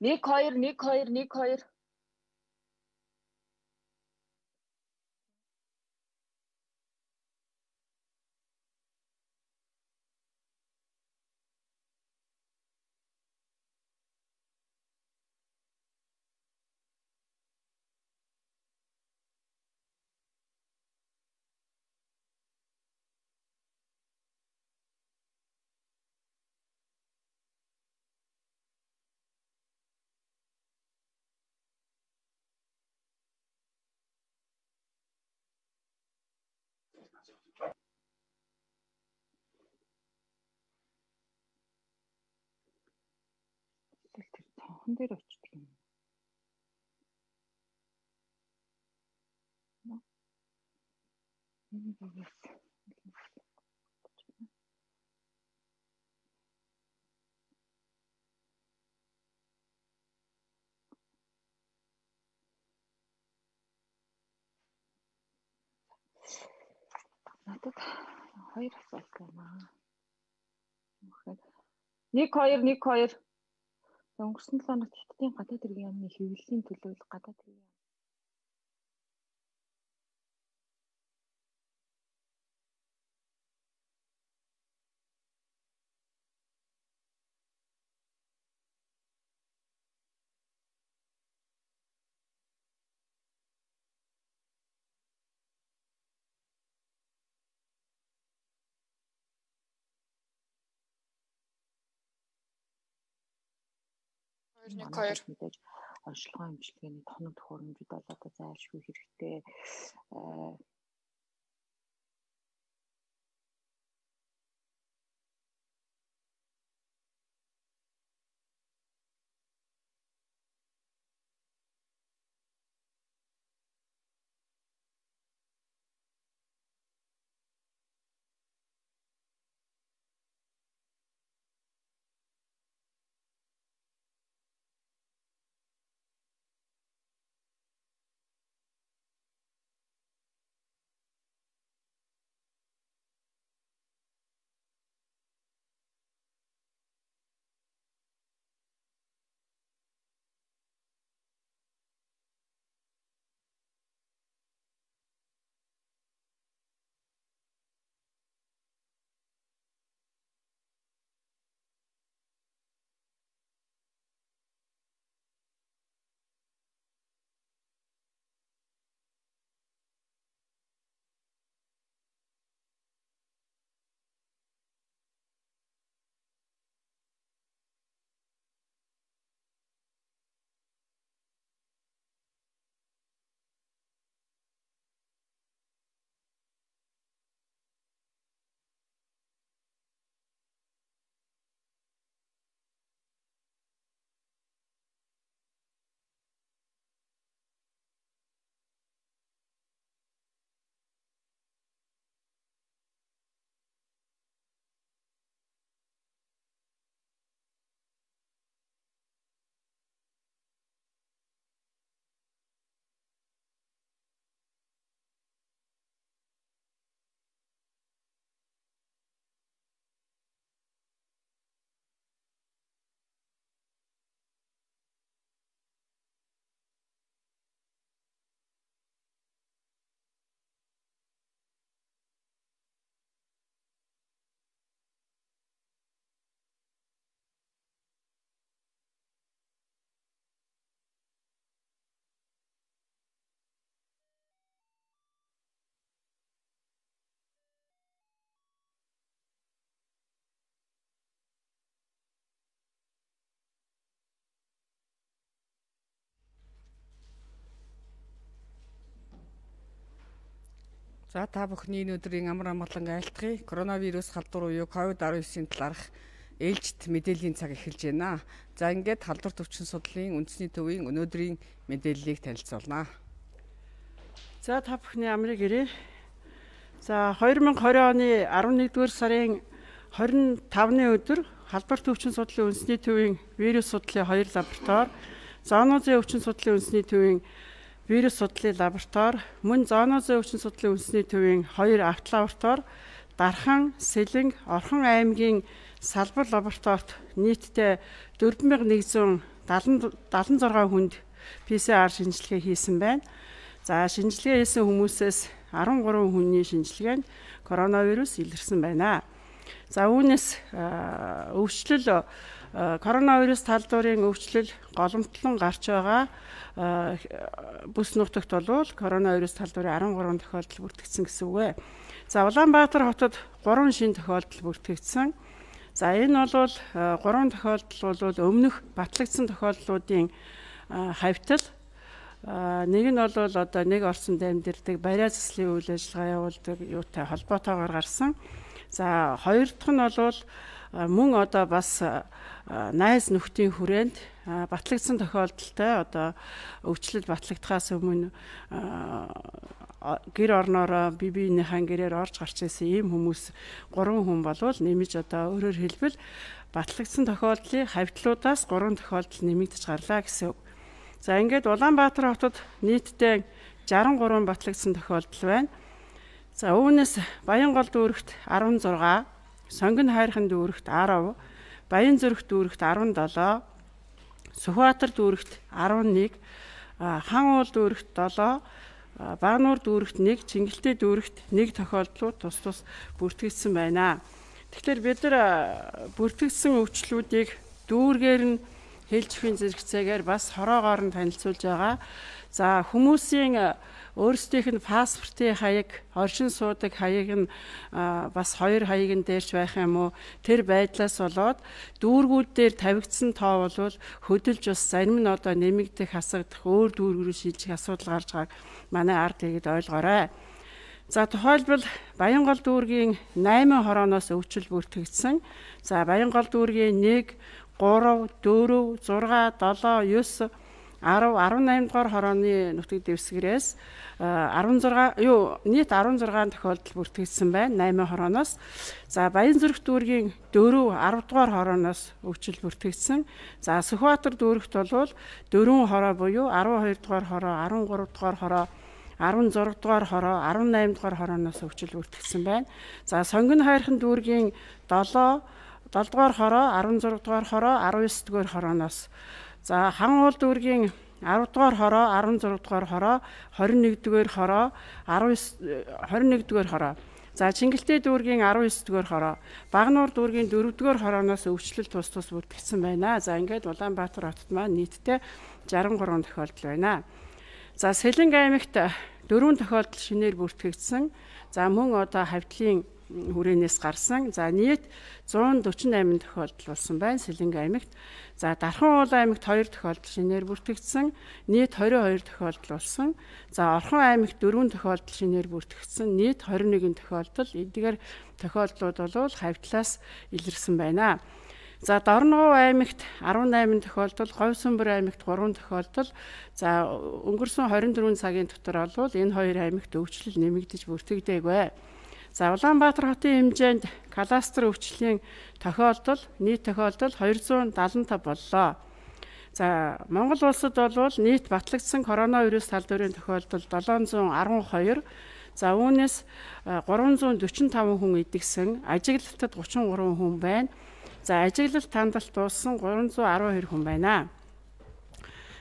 1 2 1 2 1 2. Хон дээр очдөг юм. Надад 2 асуулт байна. 1 2 1 2. Өнгөрсөн 7 хоногт Хятадын гадаад хэргийн яамны хэвлэлийн төлөөлөл гадаад хэргийн мэдээж онцлогоо имчилгээний тоног төхөөрөмжүүд бол одоо зайлшгүй хэрэгтэй. За та бүхний өнөөдрийн амар амгалан айлтгая. Коронавирус халдвар буюу COVID-19-ийн талаарх ээлжид мэдээллийн цаг эхэлж байна. За ингээд халдвар төвчин судлалын үндэсний төвийн өнөөдрийн мэдээллийг танилцуулнаа. За та бүхний амрыг ирээ. За 2020 оны 11-р сарын 25-ны өдөр халдвар төвчин судлалын үндэсний төвийн вирус судлалын 2 лаборатори, зоонозын өвчин судлалын үндэсний төвийн вирус судлалын лаборатори, мөн зоонозын өвчин судлалын үндэсний төвийн 2 авто лаборатори, Дархан, Сэлэнг, Орхон аймгийн салбар лабораторид нийтдээ 4100 76 хүнд PCR шинжилгээ хийсэн байна. За шинжилгээ хийсэн хүмүүсээс 13 хүний шинжилгээнд коронавирус илэрсэн байна. За үүнээс өвчлөл коронавирус талдуурын өвчлөл голомтлон гарч байгаа бүс нутагт бол коронавирус талдуурын 13 тохиолдол бүртгэгдсэн гэсэн үг ээ. За Улаанбаатар хотод 3 шинэ тохиолдол бүртгэгдсэн. За энэ бол 3 тохиолдол бол өмнөх батлагдсан тохиолдлуудын хавьтал. Нэг нь бол одоо нэг орсон дамжирдаг бариа заслын үйл ажиллагаа явуулдаг юутай холбоотойгоор гарсан. За хоёр дахь нь бол мөн одоо бас найз нөхдийн хүрээнд батлагдсан тохиолдолтой одоо өвчлөл батлагдахаас өмнө гэр орноороо биеийнхээ гэрээр орж гарч ирсэн ийм хүмүүс 3 хүн болвол нэмж одоо өөрөөр хэлбэл батлагдсан тохиолдлын хавьтлуудаас 3 тохиолдол нэмэгдэж гарлаа гэсэн үг. За ингээд Улаанбаатар хотод нийтдээ 63 батлагдсан тохиолдол байна. За үүнээс Баянгол дүүрэгт 16, Сонгон хайрхан дүүрэгт 10, Баянзүрх дүүрэгт 17, Сүхбаатар дүүрэгт 11, Хан уул дүүрэгт 7, Багнуур дүүрэгт 1, Чингэлтэй дүүрэгт 1 тохиолдлууд тус бүртгэгдсэн байна. Тэгэхээр бид нар бүртгэгдсэн өвчлүүдийг дүүргээр нь хэлж өгөн зэрэгцээгээр бас хороогоор нь танилцуулж байгаа. За хүмүүсийн өөрсдийнх нь паспортын хаяг, оршин суудаг хаяг нь бас 2 хаяг нь дээрч байх юм уу? Тэр байдлаас болоод дүүргүүд дээр тавигдсан тоо бол хөдөлж бас зарим нь одоо нэмэгдэх, хасагдах, өөр дүүргүүрээ шилжих асуудал гарч байгааг манай ард иргэд ойлгоорой. За тухайлбал Баянгол дүүргийн 8 хорооноос өвчл бүртгэгдсэн. За Баянгол дүүргийн 1, 3, 4, 6, 7, 9, 10, 18 дугаар хорооны нутаг дэвсгэрээс 16 тохиолдол бүртгэгдсэн байна 8 хорооноос. За Баянзүрх дүүргийн 4, 10 дугаар хорооноос өвчл бүртгэгдсэн. За Сүхбаатар дүүрэгт бол 4 хороо буюу 12 дугаар хороо, 13 дугаар хороо, 16 дугаар хороо, 18 дугаар хорооноос өвчл бүртгэгдсэн байна. За Сонгон хайрхан дүүргийн 7 дугаар хороо, 16 дугаар хороо, 19 дугаар хорооноос. За Хан уул дүүргийн 10 дугаар хороо, 16 дугаар хороо, 21 дугаар хороо, 21 дугаар хороо. За Чингэлтэй дүүргийн 19 дугаар хороо, Багнуур дүүргийн 4 дугаар хорооноос өвчлөл тус бүртгэгдсэн байна. За ингээд Улаанбаатар хотод маань нийтдээ 63 тохиолдол байна. За Сэлэнг аймагт 4 тохиолдол шинээр бүртгэгдсэн. За мөн одоо хавьтлын хүрээнээс гарсан. За нийт 148 тохиолдол болсон байна Сэлэнг аймагт. За Дархан уул аймагт 2 тохиолдол шинээр бүртгэгдсэн. Нийт 22 тохиолдол болсон. За Орхон аймагт 4 тохиолдол шинээр бүртгэгдсэн. Нийт 21 тохиолдол. Эдгээр тохиолдлууд бол хавьтлаас илэрсэн байна. За Дорногов аймагт 18 тохиолдол, Говьсүнбэр аймагт 3 тохиолдол. За өнгөрсөн 24 цагийн дотор бол энэ хоёр аймагт өвчлөл нэмэгдэж бүртгэгдээгүй. За Улаанбаатар хотын хэмжээнд кластер өвчлийн тохиолдол, нийт тохиолдол 275 боллоо. За Монгол улсад бол нийт батлагдсан коронавирус талдварын тохиолдол 712. За үүнээс 345 хүн идэгсэн, ажиглалтад 33 хүн байна. За ажиглалт тандалт дууссан 312 хүн байна.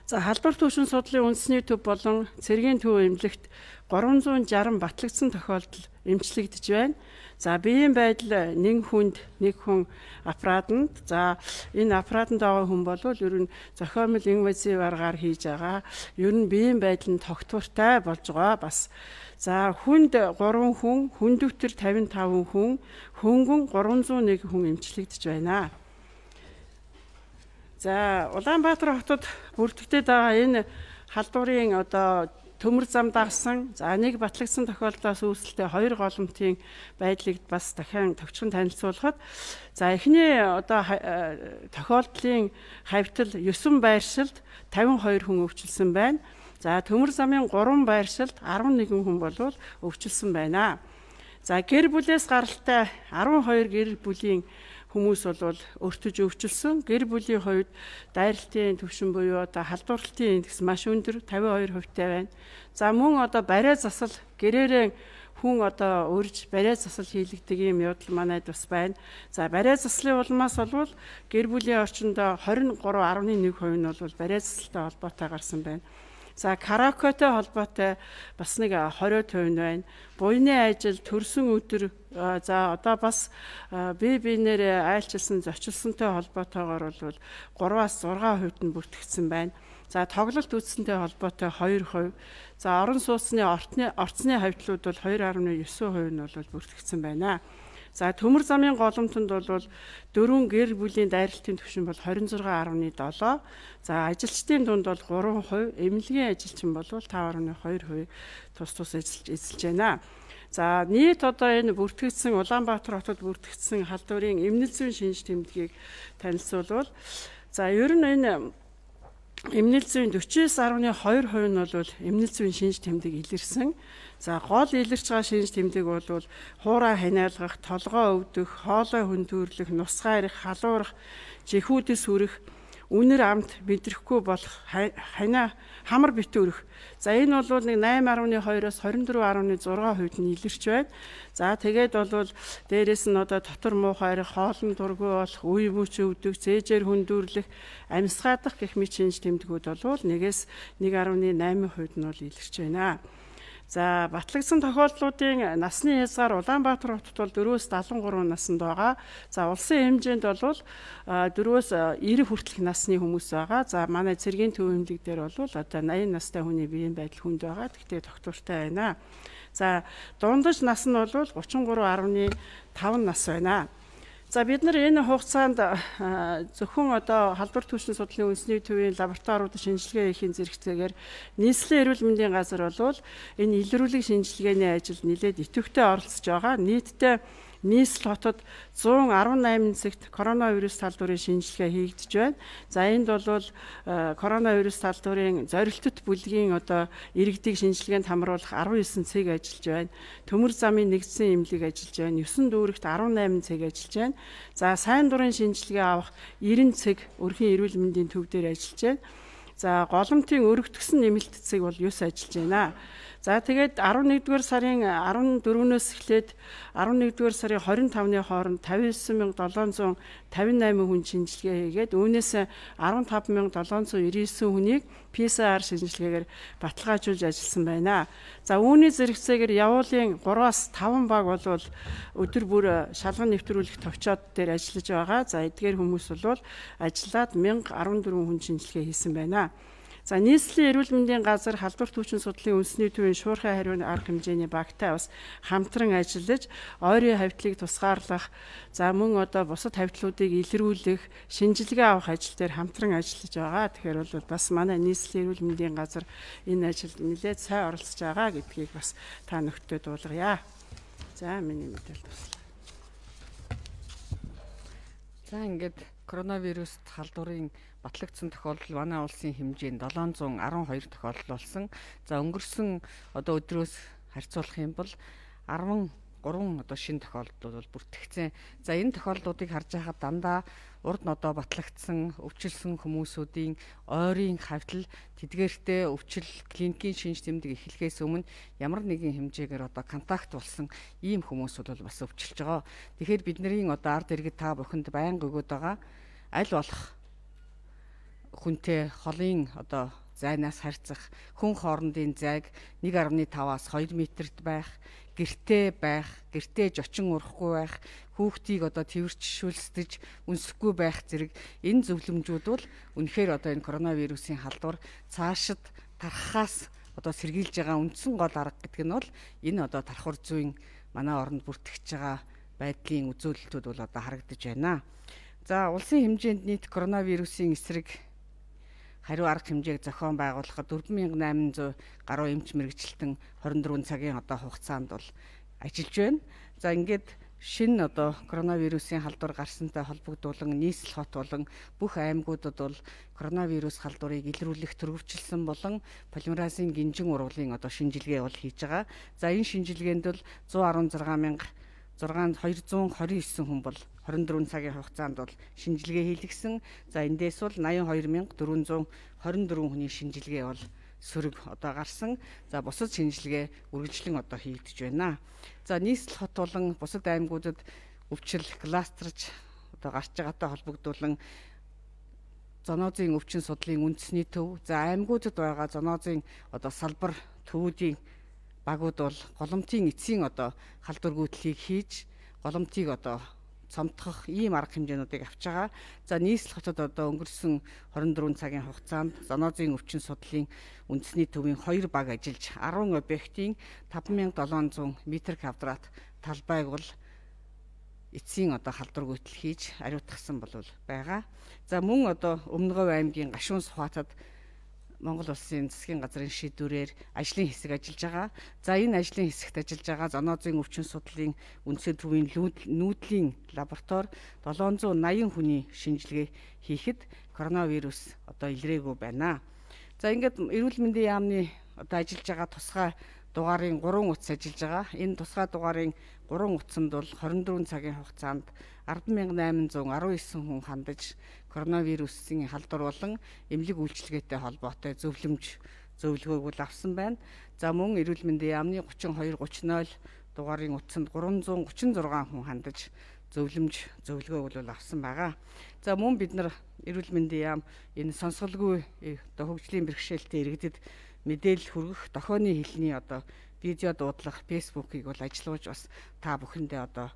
За халдвар түвшин судлалын үндэсний төв болон цэргийн төв эмнэлэгт 360 батлагдсан тохиолдол эмчлэгдэж байна. За биеийн байдал нэг хүн аппаратанд. За энэ аппаратанд байгаа хүн бол ер нь зохиомжтой инвазив аргаар хийж байгаа. Ер нь биеийн байдал нь тогтвортой болж байгаа бас. За хүнд 3 хүн, хүндөвтөр 55 хүн, хөнгөн 301 хүн эмчлэгдэж байна. За Улаанбаатар хотод бүртгэгдээд байгаа энэ халдварын одоо төмөр зам дагсан. За нэг батлагдсан тохиолдлоос үүсэлтэй 2 голомтын байдлыг бас дахин товчхон танилцуулахад за эхний одоо тохиолдлын хавьтал 9 байршилд 52 хүн өвчлсөн байна. За төмөр замын 3 байршилд 11 хүн болвол өвчлсөн байна. За гэр бүлээс гаралтай 12 гэр бүлийн хүмүүс бол өртөж өвчлсөн. Гэр бүлийн хувьд дайралтын түвшин буюу одоо халдварлалтын индекс маш өндөр 52% байна. За мөн одоо бариа засал гэрээрээ хүн одоо урьж барай засал хийлэгдэг юм явдал манайд бас байна. За барай заслын улмаас болвол гэр бүлийн орчиндөө 23.1% нь бол барай засалтай холбоотой гарсан байна. За караокетэй холбоотой бас нэг 20% байна. Буйны ажил, төрсөн өдөр за одоо бас бие биенээр айлчилсан зочилсонтой холбоотойгоор бол 3-аас 6% нь бүртгэгдсэн байна. За тоглолт үзсэнтэй холбоотой 2%. За орон сууцны орцны хавьтлууд бол 2.9% нь бол бүртгэгдсэн байна. За төмөр замын голомтонд бол 4 гэр бүлийн дайралтын түвшин бол 26.7. За ажилчдын дунд бол 3%, эмнэлгийн ажилчин бол 5.2% тус эзэлж байна. За нийт одоо энэ бүртгэгдсэн Улаанбаатар хотод бүртгэгдсэн халдварын эмнэлэг зүйн шинж тэмдгийг танилцуулбал за ер нь энэ эмнэлэг зүйн 49.2% нь бол эмнэлэг зүйн шинж тэмдэг илэрсэн. За гол илэрч байгаа шинж тэмдэг бол хуурай ханиалгах, толгой өвдөх, хоолой хөндөөрлөх, нусгаа ирэх, халуурах, жихүүдэс хүрэх, үнэр амт мэдрэхгүй болох, хамар битүү өрөх. За энэ бол нэг 8.2-оос 24.6% нь илэрч байна. За тэгээд бол дээрэс нь одоо дотор муухай арих, хоолн дургүй болох, үе мөч өвдөх, зээжээр хөндөөрлөх, амьсгаадах гэх мэт шинж тэмдгүүд бол 1-ээс 1.8% нь бол илэрч байна. За батлагдсан тохиолдлуудын насны хязгаар Улаанбаатар хотод бол 4-өөс 73 наснд байгаа. За улсын хэмжээнд бол 4-өөс 90 хүртэлх насны хүмүүс байгаа. За манай цэргийн төв эмнэлэг дээр бол одоо 80 настай хүний биеийн байдал хүнд байгаа. Тэгтээ тогтвортой байна. За дундаж нас нь бол 33.5 нас байна. За бид нар энэ хугацаанд зөвхөн одоо халдвар түвшин судлалын үндэсний төвийн лабораториуд шинжилгээ хийхин зэрэгцээгээр нийслэлийн эрүүл мэндийн газар бол энэ илрүүлэг шинжилгээний ажилд нэлээд идэвхтэй оролцож байгаа. Нийтдээ нийслэл хотод 118 цагт коронавирус талдварын шинжилгээ хийгдэж байна. За энд бол коронавирус талдварын зорилттой бүлгийн одоо иргэдийг шинжилгээнд хамруулах 19 цаг ажиллаж байна. Төмөр замын нэгдсэн эмнэлэг ажиллаж байна. 9 дүүрэгт 18 цаг ажиллаж байна. За сайн дурын шинжилгээ авах 90 цаг өрхийн эрүүл мэндийн төв дээр ажиллаж байна. За голомтын өргөтгсөн нэмэлтцэг бол 9 ажиллаж байна. За тэгээд 11-р сарын 14-өөс эхлээд 11-р сарын 25-ны хооронд 59758 хүн шинжилгээ хийгээд үүнээс 15799 хүнийг PCR шинжилгээгээр баталгаажуулж ажилласан байна. За үүний зэрэгцээгээр явуулын 3-аас 5 баг бол өдөр бүр шалган нэвтрүүлэх товчоод дээр ажиллаж байгаа. За эдгээр хүмүүс бол ажиллаад 1014 хүн шинжилгээ хийсэн байна. За нийслэлийн эрүүл мэндийн газар халдвар түвшин судлалын үндэсний төвийн шуурхай хариуны арга хэмжээний багтай бас хамтран ажиллаж ойрын хавьтлыг тусгаарлах, за мөн одоо бусад хавьтлуудыг илрүүлэх, шинжилгээ авах ажил дээр хамтран ажиллаж байгаа. Тэгэхээр бол бас манай нийслэлийн эрүүл мэндийн газар энэ ажилд нэлээд сайн оролцож байгаа гэдгийг бас та нөхдөд дуулгая. За миний мэдээлэл туслаа. За ингээд коронавирус халдварын батлагдсан тохиолдол манай улсын хэмжээнд 712 тохиолдол болсон. За өнгөрсөн одоо өдрөөс харьцуулах юм бол 13 одоо шинэ тохиолдлууд бол бүртгэгдсэн. За энэ тохиолдлуудыг харж байхад дандаа урд нь одоо батлагдсан, өвчлсөн хүмүүсүүдийн ойрын хавьтал тэдгээртээ өвчл клиникийн шинж тэмдэг эхлэхээс өмнө ямар нэгэн хэмжээгээр одоо контакт болсон ийм хүмүүсүүд бол бас өвчлж байгаа. Тэгэхээр бидний одоо ард иргэд та бүхэнд байнга өгöd байгаа аль болох хүнтэй холын одоо зайнаас харьцах, хүн хоорондын зайг 1.5-аас 2 метрт байх, гэртээ жочин урахгүй байх, хүүхдийг одоо тэрвэрчшүүлсдэж үнсэхгүй байх зэрэг энэ зөвлөмжүүд бол үнэхээр одоо энэ коронавирусын халдвар цаашид тархахаас одоо сэргийлж байгаа үндсэн гол арга гэдэг нь бол энэ одоо тархвар зүйн манай оронд бүртгэж байгаа байдлын үзүүлэлтүүд бол одоо харагдаж байна. За улсын хэмжээнд нийт коронавирусын эсрэг хариу арга хэмжээг зохион байгуулахад 4800 гаруй эмч мэрэгчлэлтэн 24 цагийн одоо хугацаанд бол ажиллаж байна. За ингээд шинэ одоо коронавирусын халдвар гарсантай холбогдуулан нийслэл хот болон бүх аймагуудад бол коронавирус халдварыг илрүүлэх төрөвчлсөн болон полимеразын гинжин ургуулын одоо шинжилгээ бол хийж байгаа. За энэ шинжилгээнд бол 116,229 хүн бол 24 цагийн хугацаанд бол шинжилгээ хийлгэсэн. За эндээс бол 82424 хүний шинжилгээ бол сөрөг одоо гарсан. За бусад шинжилгээ үргэлжлэн одоо хийгдэж байна. За нийслэл хот болон бусад аймагуудад өвчил кластерж одоо гарч байгаатай холбогдуулан зоонозын өвчин судлалын үндэсний төв, за аймагуудад байгаа зоонозын одоо салбар төвүүдийн багууд бол голомтын эцсийн одоо халдвар гүйтлийг хийж голомтыг одоо цомтгох ийм арга хэмжээнүүдийг авч байгаа. За нийслэл хотод одоо өнгөрсөн 24 цагийн хугацаанд зоонозын өвчин судлалын үндэсний төвийн 2 баг ажиллаж 10 объектын 5700 м2 талбайг бол эцсийн одоо халдвар гүйтэл хийж ариутгасан болов байгаа. За мөн одоо Өмнөговь аймгийн Гашуун Сухатад Монгол улсын засгийн газрын шийдвэрээр ажлын хэсэг ажиллаж байгаа. За энэ ажлын хэсэгт ажиллаж байгаа зоонозын өвчин судлалын үндсэн төвийн нүүдлийн лаборатори 780 хүний шинжилгээ хийхэд коронавирус одоо илрээгүй байна. За ингээд эрүүл мэндийн яамны одоо ажиллаж байгаа тусгай дугаарын 3 утас ажиллаж байгаа. Энэ тусгай дугаарын 3 утсанд бол 24 цагийн хугацаанд 10,819 хүн хандаж коронавирусын халдвар болон эмнэлэг үйлчилгээтэй холбоотой зөвлөгөөг бол авсан байна. За мөн эрүүл мэндийн яамны 3230 дугаарын утсанд 336 хүн хандаж зөвлөгөөг бол авсан байгаа. За мөн бид нар эрүүл мэндийн яам энэ сонсголгүй одоо хөгжлийн бэрхшээлтэй иргэдэд мэдээлэл хүргэх дохионы хэлний одоо видео дуудлах фэйсбүүкийг бол ажиллуулж бас та бүхэндээ одоо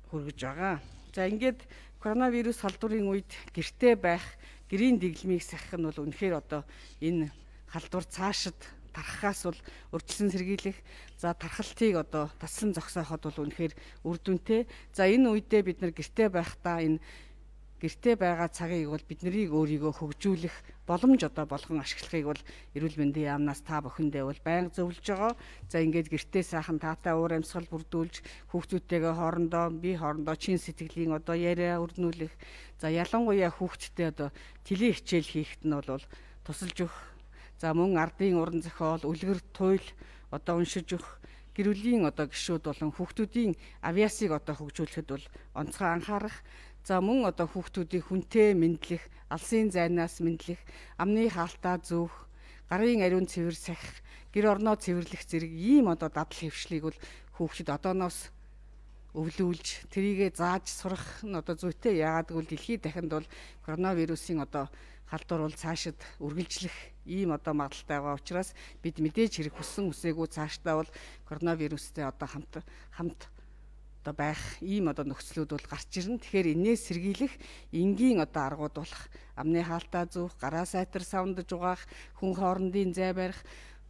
хүргэж байгаа. За ингээд коронавирус халдварын үед гэртээ байх, гэрийн дэглэмийг сахих нь бол үнэхээр одоо энэ халдвар цаашид тархахаас бол урьдчилан сэргийлэх, за тархалтыг одоо таслан зогсооход бол үнэхээр үр дүнтэй. За энэ үедээ бид нар гэртээ байхдаа энэ гэртээ байгаа цагийг бол биднийг өөрийгөө хөгжүүлэх боломж одоо болгон ашиглахыг бол эрүүл мэндийн яамнаас та бүхэндээ бол байнга зөвлөж байгаа. За ингээд гэртээ сайхан таатай уур амьсгал бүрдүүлж хүүхдүүдтэйгээ хоорондоо чин сэтгэлийн одоо яриа өрнүүлэх. За ялангуяа хүүхдтэй одоо тэлээ хичээл хийхэд нь бол тусалж өгөх. За мөн ардын уран зохиол, үлгэр туйл одоо уншиж өгөх. Гэр бүлийн одоо гишүүд болон хүүхдүүдийн авиасыг одоо хөгжүүлэхэд бол онцгой анхаарах. За мөн одоо хүүхдүүдийг хүнтэй мэдлэх, алсын зайнаас мэдлэх, амны хаалтаа зөөх, гарын ариун цэвэр сахих, гэр орноо цэвэрлэх зэрэг ийм одоо дадал хэвшлийг бол хүүхдэд одооноос өвлүүлж тэрийгэ зааж сурах нь одоо зүйтэй. Яагаад гэвэл дэлхийд дахинд бол коронавирусын одоо халдвар бол цаашид үргэлжлэх ийм одоо магадaltaй байгаа учраас бид мэдээж хэрэг хүссэн үсээгүй цаашдаа бол коронавирустэй одоо хамт одоо байх ийм одоо нөхцлүүд бол гарч ирнэ. Тэгэхээр энээс сэргийлэх энгийн одоо аргууд болох амны хаалтаа зүүх, гараа сайтар савндаж угаах, хүн хоорондын зай барих,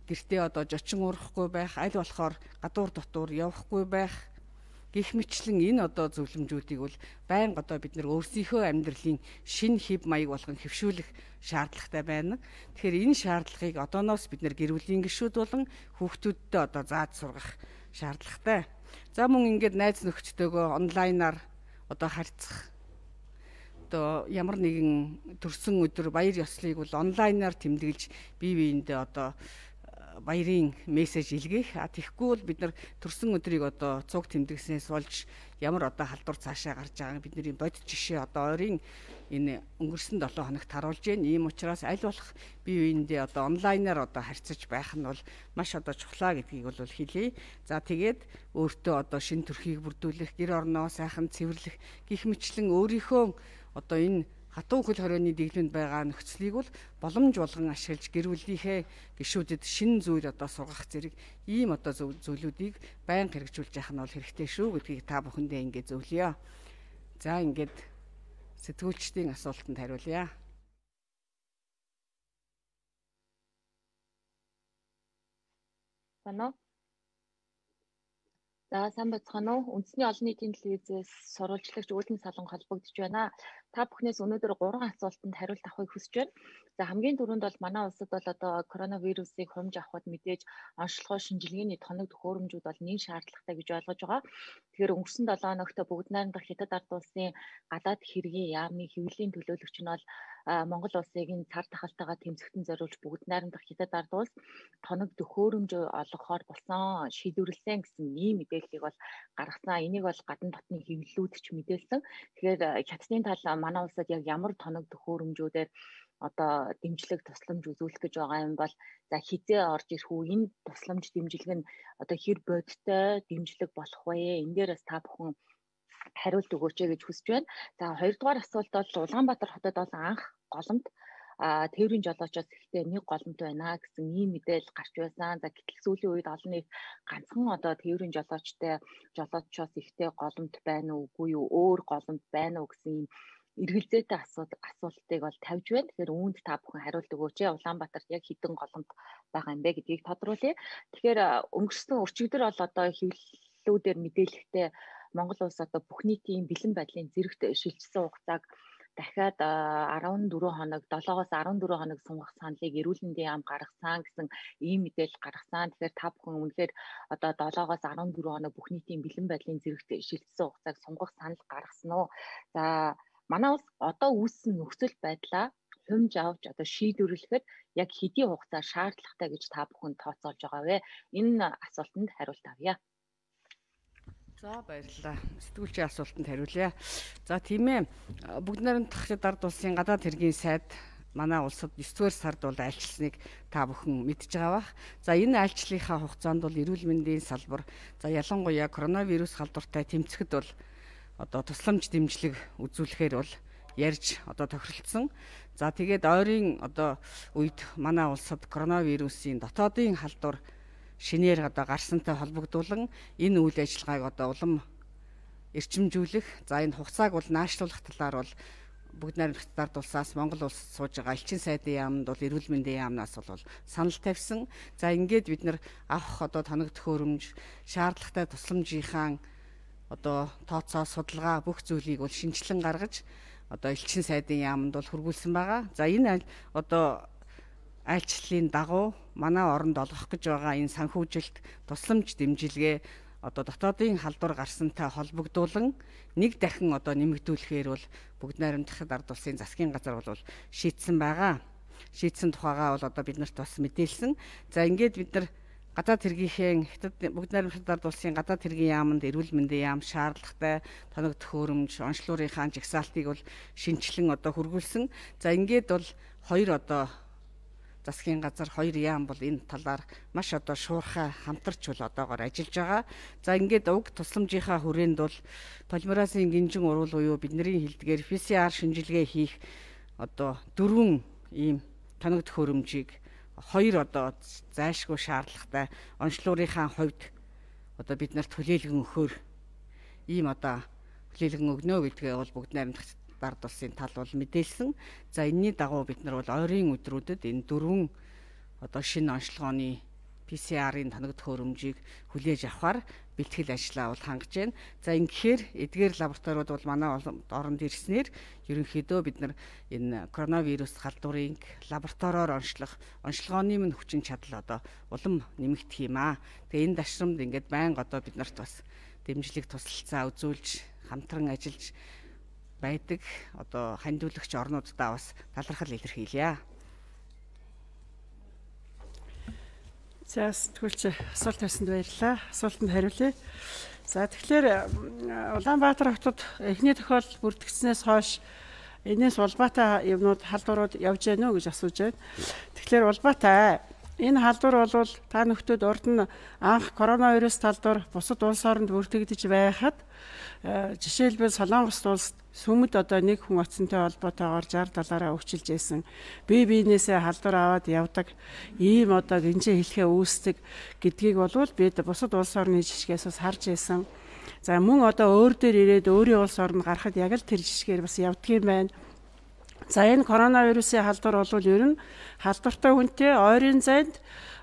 гэртээ одоо жочин урахгүй байх, аль болохоор гадуур дотуур явахгүй байх гэх мэтлэн энэ одоо зөвлөмжүүдийг бол байнга одоо бид нар өөрсдийнхөө амьдралын шинэ хэв маяг болгон хэвшүүлэх шаардлагатай байна. Тэгэхээр энэ шаардлагыг одооноос бид нар гэр бүлийн гишүүд болон хүүхдүүдтэй одоо зааж сургах шаардлагатай. За мөн ингээд найз нөхдөдөө онлайнаар одоо харьцах. Одоо ямар нэгэн төрсөн өдөр баяр ёслолыг бол онлайнаар тэмдэглэж бие биендээ одоо баярын мессеж илгээх. Тэгэхгүй бол бид нар төрсөн өдрийг одоо цуг тэмдэгснээс болж ямар одоо халдвар цаашаа гарч байгааг бидний бодит жишээ одоо ойрын энэ өнгөрсөн 7 хоногт харуулж байна. Ийм учраас аль болох бие биендээ одоо онлайнаар одоо харьцаж байх нь бол маш одоо чухлаа гэдгийг бол хэлье. За тэгээд өөртөө одоо шинэ төрхийг бүрдүүлэх, гэр орноо сайхан цэвэрлэх гэх мэтлэн өөрийнхөө одоо энэ хатуу хөл хорионы дэглэмд байгаа нөхцөлийг бол боломж болгон ашиглаж гэр бүлийнхээ гишүүдэд шинэ зүйл одоо сургах зэрэг ийм одоо зүйлүүдийг байнга хэрэгжүүлж явах нь бол хэрэгтэй шүү гэдгийг та бүхэндээ ингээд зөвлөё. За ингээд сэтгүүлчдийн асуултанд хариулъя. Байна уу? За сайн байцгаана уу? Үндэсний олон нийтийн телевизээс сурвалжлагч Үүлэн Салан холбогдож байна. Та бүхнээс өнөөдөр 3 асуултанд хариулт авахыг хүсэж байна. За хамгийн түрүүнд бол манай улсад бол одоо коронавирусыг хумж авахд мэдээж онцлогоо шинжилгээний тоног төхөөрөмжүүд бол нэн шаардлагатай гэж ойлгож байгаа. Тэгэхээр өнгөрсөн 7 хоногт бүгд найрамдах Хятад ард улсын гадаад хэргийн яамны хэвлэлийн төлөөлөгч нь бол Монгол улсыг энэ цар тахалтайгаа тэмцэхтэн зориулж бүгд найрамдах Хятад ард улс тоног төхөөрөмж олгохоор болсон шийдвэрлсэн гэсэн ийм мэдээллийг бол гаргасан. Энийг бол гадна дотны хэвлэлүүд ч мэдээлсэн. Тэгэхээр Хятадын тал манай улсад яг ямар тоног төхөөрөмжүүдээр одоо дэмжлэг тусламж үзүүлэх гэж байгаа юм бол за хизээ орж ирэх үү, энэ тусламж дэмжлэг нь одоо хэр бодиттой дэмжлэг болох вэ? Энэ дээр бас та бүхэн хариулт өгөөч гэж хүсэж байна. За хоёрдугаар асуулт бол Улаанбаатар хотод бол анх голомт тээврийн жолоочоос ихтэй нэг голомт байна гэсэн ийм мэдээлэл гарч байсан. За гэтэл сүүлийн үед олон нийт ганцхан одоо тээврийн жолоочоос ихтэй голомт байна уугүй юу, өөр голомт байна уу гэсэн ийм эргэлзээтэй асуултыг бол тавьж байна. Тэгэхээр үүнд та бүхэн хариулт өгөөч. Улаанбаатарт яг хэдэн голомт байгаа юм бэ гэдгийг тодруулъя. Тэгэхээр өнгөрсөн өчигдөр бол одоо хэвлэлүүдээр мэдээлэхдээ Монгол улс одоо бүх нийтийн бэлэн байдлын зэрэгт шилжсэн хугацааг дахиад 14 хоног 7-оос 14 хоног сунгах саналыг эрүүл мэндийн яам гаргасан гэсэн ийм мэдээлэл гаргасан. Тэгэхээр та бүхэн үнэхээр одоо 7-оос 14 хоног бүх нийтийн бэлэн байдлын зэрэгт шилжсэн хугацааг сунгах санал гаргасан уу? За манай улс одоо үүссэн нөхцөл байдлаа хумж авч одоо шийдвэрлэхэд яг хэдийн хугацаа шаардлагатай гэж та бүхэн тооцоолж байгаа вэ? Энэ асуултанд хариулт авъя. За баярлалаа. Сэтгүүлчийн асуултанд хариулъя. За тийм ээ. Бүгд найрамдах ард улсын гадаад хэргийн сайд манай улсад 9-р сард бол айлчилсныг та бүхэн мэдж байгаа бах. За энэ айлчлалынхаа хугацаанд бол эрүүл мэндийн салбар за ялангуяа коронавирус халдвартай тэмцэхэд бол одоо тусламж дэмжлэг үзүүлэхээр бол ярьж одоо тохиролцсон. За тэгээд ойрын одоо үед манай улсад коронавирусын дотоодын халдвар шинээр одоо гарсантай холбогдуулан энэ үйл ажиллагааг одоо улам эрчимжүүлэх, за энэ хугацааг бол наашлуулах талаар бол бүгд найрамдах ард улсаас Монгол улс сууж байгаа элчин сайдын яамд бол эрүүл мэндийн яамнаас бол санал тавьсан. За ингээд бид нар авах одоо тоног төхөөрөмж, шаардлагатай тусламжийнхаа одоо тооцоо судалгаа бүх зүйлийг бол шинжилэн гаргаж одоо элчин сайдын яамд бол хургуулсан байгаа. За энэ одоо айлчлалын дагуу манай оронд олгох гэж байгаа энэ санхүүжилт тусламж дэмжлэгээ одоо дотоодын халдвар гарсантай холбогдуулан нэг дахин одоо нэмэгдүүлэхээр бол бүгд найрамдах ард улсын засгийн газар бол шийдсэн байгаа. Шийдсэн тухайгаа бол одоо биднэрт бас мэдээлсэн. За ингээд бид нар гадаад хэргийнхээ бүгд найрамдах ард улсын гадаад хэргийн яамд эрүүл мэндийн яам шаардлагатай тоног төхөөрөмж онцлогынхаа жагсаалтыг бол шинчлэн одоо хургуулсан. За ингээд бол хоёр одоо засгийн газар хоёр яам бол энэ талаар маш одоо шуурхай хамтарч бол одоогоор ажиллаж байгаа. За ингээд уг тусламжийнхаа хүрээнд бол полимеразын гинжин урвал буюу бидний хэлдгээр PCR шинжилгээ хийх одоо 4 ийм тоног төхөөрөмжийг хоёр одоо зайлшгүй шаардлагатай онцлогынхаа хувьд одоо бид нарт хүлээлгэн өгөхөөр ийм одоо хүлээлгэн өгнө гэдгээ бол бүгд найрамдах ард улсын тал бол мэдээлсэн. За энэний дагуу бид нар бол ойрын өдрүүдэд энэ 4 одоо шинэ онцлогооны PCR-ийн тоног төхөөрөмжийг хүлээж авахар бэлтгэл ажлаа бол хангаж байна. За ингэхээр эдгээр лабораториуд бол манай оронд ирснээр ерөнхийдөө бид нар энэ коронавирус халдварыг лабораториор онцлогооны минь хүчин чадал одоо улам нэмэгдэх юм аа. Тэгээ энэ дашрамд ингээд байнга одоо бид нарт бас дэмжлэг тусалцаа үзүүлж хамтран ажиллаж байдаг одоо хандиулагч орнуудаа бас талархал илэрхийлье. За сэтгүүлч асуулт тавьсанд баярлалаа. Асуултанд хариулъя. За тэгэхээр Улаанбаатар хотод эхний тохиолдол бүрдэгдснээс хойш энэс улбаатай юмнууд халдварууд явж байна уу гэж асууж байна. Тэгэхээр улбаатай энэ халдвар бол та нөхдөд урд нь анх коронавирус талдвар бусад улс оронд бүртгэгдэж байхад жишээлбэл Солонгос улсад сүмд одоо нэг хүн оцсонтой холбоотойгоор 60-70-аараа өгчилж байсан. Бие биенээсээ халдвар аваад явдаг ийм одоо гинжээ хэлхээ үүсдэг гэдгийг бол бид бусад улс орны жишгээс бас харж байсан. За мөн одоо өөр дээр ирээд өөрийн улс оронд гарахад яг л тэр жишгээр бас явдгийм байна. За энэ коронавирусын халдвар бол ер нь халдвартай хүнтэй ойрын зайд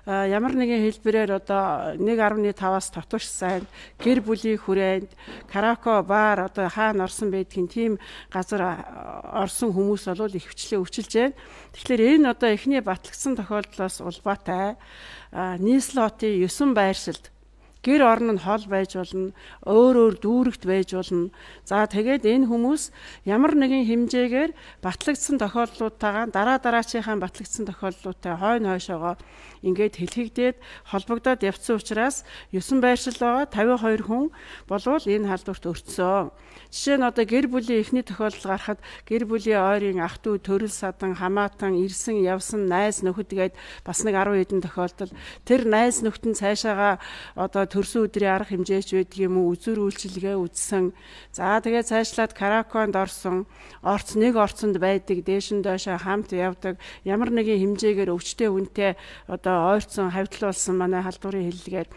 ямар нэгэн хэлбэрээр одоо 1.5-аас татварч сайн гэр бүлийн хүрээнд караоке бар одоо хаана орсон байдгийн тийм газар орсон хүмүүс бол ихвчлэн өвчилж байна. Тэгэхээр энэ одоо эхний батлагдсан тохиолдлоос улбаатай нийслэлотын 9 байршилд гэр орон нь хол байж болно, өөр дүүрэгт байж болно. За тэгээд энэ хүмүүс ямар нэгэн хэмжээгээр батлагдсан тохиолдлуудтайгаа дараачийнхаа батлагдсан тохиолдлуудтай хойно хойшоогоо ингээд хэлхийгдээд холбогдоод явцсан учраас 9 байршил байгаа 52 хүн болвол энэ халдварт өртсөн. Жишээ нь одоо гэр бүлийн эхний тохиолдол гарахад гэр бүлийн ойрын ах дүү, төрөл садан, хамаатан, ирсэн, явсан, найз нөхөд гээд бас нэг 10 хэдэн тохиолдол. Тэр найз нөхдөд цаашаага одоо төрсөн өдрийн арга хэмжээч байдаг юм уу, үзүр үйлчилгээ үзсэн. За тэгээд цаашлаад караоконд орсон, нэг орцонд байдаг, дээш нь доошоо хамт явдаг, ямар нэгэн хэмжээгээр өвчтэй хүнтэй одоо ойрцсон, хавьтлуулсан манай халдварын хэллэгээр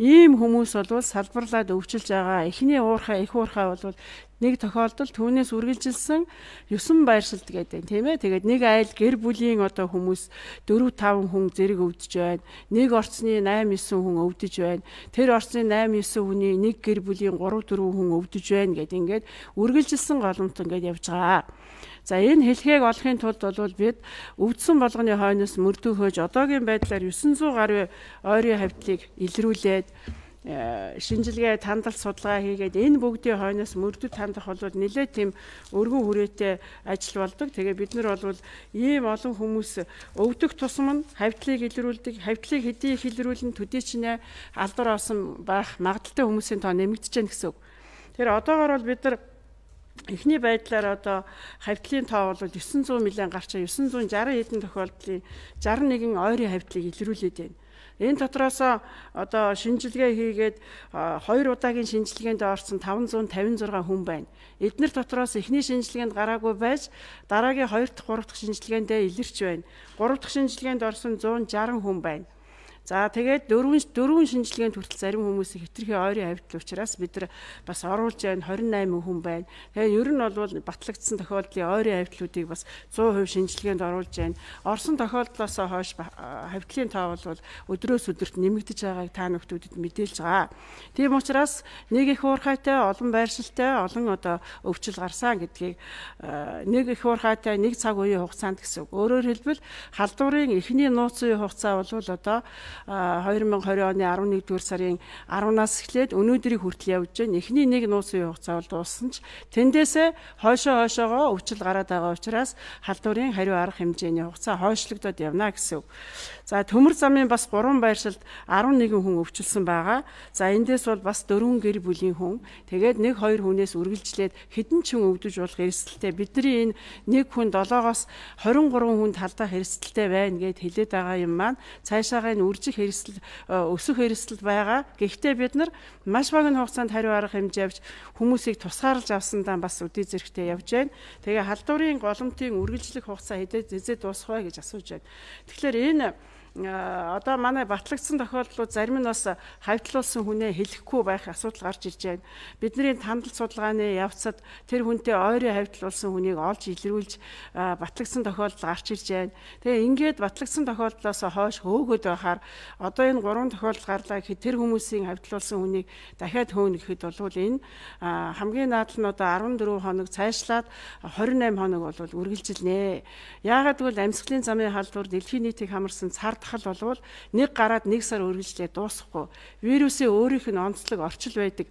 ийм хүмүүс бол салбарлаад өвчилж байгаа. Эхний их уурхай бол нэг тохиолдол түүнээс үргэлжилсэн 9 байршилд гэдэг тийм ээ. Тэгээд нэг айл гэр бүлийн одоо хүмүүс 4-5 хүн зэрэг өвдөж байна. Нэг орцны 8-9 хүн өвдөж байна. Тэр орцны 8-9 хүний нэг гэр бүлийн 3-4 хүн өвдөж байна гэдэг ингээд үргэлжилсэн голомт ингээд явж байгаа. За энэ хэлхийг олохын тулд бол бид өвдсөн болгоны хойноос мөрдөхөж одоогийн байдлаар 900 гаруй ойрын хавьтлыг илрүүлээд шинжилгээ тандал судалгаа хийгээд энэ бүгдийн хойноос мөрдөд тандах бол нэлээд тийм өргөн хүрээтэй ажил болдог. Тэгээ бид нар бол ийм олон хүмүүс өвдөх тусам нь хавьтлыг илрүүлдэг. Хавьтлыг хэдий их илрүүлэн төдий чинээ алдар авсан байх магадaltaй хүмүүсийн тоо нэмэгдэж байна гэсэн үг. Тэр одоогоор бол бид нар эхний байдлаар одоо хавьтлын тоо бол 900 милион гарчаа 960 хэдэн тохиолдлын 61 ойрын хавьтлыг илрүүлээд байна. Энэ дотроос одоо шинжилгээ хийгээд 2 удаагийн шинжилгээнд орсон 556 хүн байна. Эдгээр дотроос эхний шинжилгээнд гараагүй байж дараагийн 2 дахь 3 дахь шинжилгээндээ илэрч байна. 3 дахь шинжилгээнд орсон 160 хүн байна. За тэгээд дөрвөн шинжилгээнд хүртэл зарим хүмүүсийн хэтэрхий ойрын хавьтал учраас бид нар бас оруулж байна 28 хүн байна. Тэгээд ер нь бол батлагдсан тохиолдлын ойрын хавьтлуудыг бас 100% шинжилгээнд оруулж байна. Орсон тохиолдлоос хойш хавьтлын тоо бол өдрөөс өдөрт нэмэгдэж байгааг та бүхэнд мэдээлж байгаа. Тийм учраас нэг их уурхайтай, олон байршилтай, олон одоо өвчл гарсан гэдгийг нэг их уурхайтай нэг цаг үеийн хугацаанд гэсэн үг. Өөрөөр хэлбэл халдварын эхний нууц үеийн хугацаа бол одоо 2020 оны 11-р сарын 10-наас эхлээд өнөөдрийг хүртэл явж байна. Эхний нэг нууц үеийн хугацаа бол дууссан ч тэндээсээ хойшоогоо өвчл гараад байгаа учраас халдварын хариу арга хэмжээний хугацаа хойшлогдоод явна гэсэн үг. За төмөр замын бас 3 байршилд 11 хүн өвчлсөн байгаа. За эндээс бол бас 4 гэр бүлийн хүн. Тэгээд 1-2 хүнээс үргэлжлээд хэдэн ч хүн өвдөж болох эрсдэлтэй. Бидний энэ нэг хүн 7-оос 23 хүнд халдах эрсдэлтэй байна гэд хэлээд байгаа юм маань цаашаагаа энэ үржих эрсдэл өсөх эрсдэл байгаа. Гэхдээ бид нар маш богино хугацаанд хариу арга хэмжээ авч хүмүүсийг тусгаарлаж авсандаа бас үдий зэрэгтэй явж байна. Тэгээ халдварын голомтын үргэлжлэх хугацаа хэзээ дуусах вэ гэж асууж байна. Тэгэхээр энэ одоо манай батлагдсан тохиолдлууд зарим нь бас хавьтлуулсан хүнээ хэлэхгүй байх асуудал гарч ирж байна. Бидний тандал судалгааны явцад тэр хүнтэй ойрын хавьтлуулсан хүнийг олж илрүүлж батлагдсан тохиолдол гарч ирж байна. Тэгээ ингээд батлагдсан тохиолдлоос хойш хөөгөөд байхаар одоо энэ 3 тохиолдол гарлаа гэхэд тэр хүмүүсийн хавьтлуулсан хүнийг дахиад хөөнө гэхэд бол энэ хамгийн наад нь одоо 14 хоног цаашлаад 28 хоног бол үргэлжилнэ. Яагаад гэвэл амьсгалын замын халдвар дэлхийн нийтийг хамарсан цар тахал болвол нэг гараад нэг сар үргэлжлээ дуусахгүй. Вирусын өөрийнх нь онцлог орчил байдаг.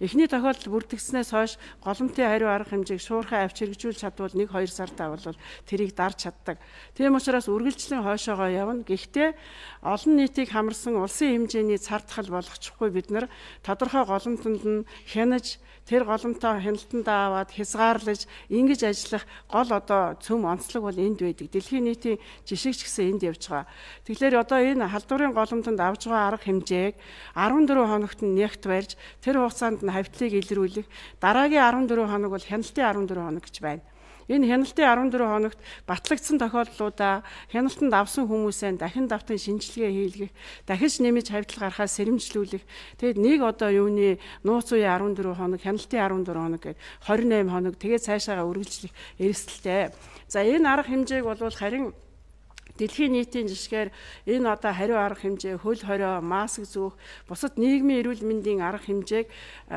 Эхний тохиолдол бүрдэгснээс хойш голомтын хариу арга хэмжээг шуурхай авч хэрэгжүүлж чадвал 1-2 сартаа бол тэрийг дарж чаддаг. Тийм учраас үргэлжлэн хойшоогоо явна. Гэхдээ олон нийтийг хамарсан улсын хэмжээний цар тахал болгочихгүй бид нар тодорхой голомтонд нь хянаж тэр голомтоо хяналтандаа аваад хязгаарлаж ингэж ажиллах гол одоо цөм онцлог бол энд байдаг. Дэлхийн нийтийн жишгч гэсэн энд явж байгаа. Тэгэхээр одоо энэ халдварын голомтонд авж байгаа арга хэмжээг 14 хоногт нь нягт барьж тэр хугацаанд нь хавьтлыг илрүүлэх. Дараагийн 14 хоног бол хяналтын 14 хоног гэж байна. Энэ хяналтын 14 хоногт батлагдсан тохиолдлуудаа хяналтанд авсан хүмүүсээ дахин давтан шинжилгээ хийлгэх, дахиж нэмж хавьтал гарахаас сэрэмжлүүлэх. Тэгэд нэг одоо юуны нууц үеийн 14 хоног, хяналтын 14 хоног гээд 28 хоног тэгээд цаашаага үргэлжлэх эрсдэлтэй. За энэ арга хэмжээг бол харин Дэлхийн нийтийн жишгээр энэ одоо хариу арга хэмжээ, хөл хорио, маск зүүх, бусад нийгмийн эрүүл мэндийн арга хэмжээг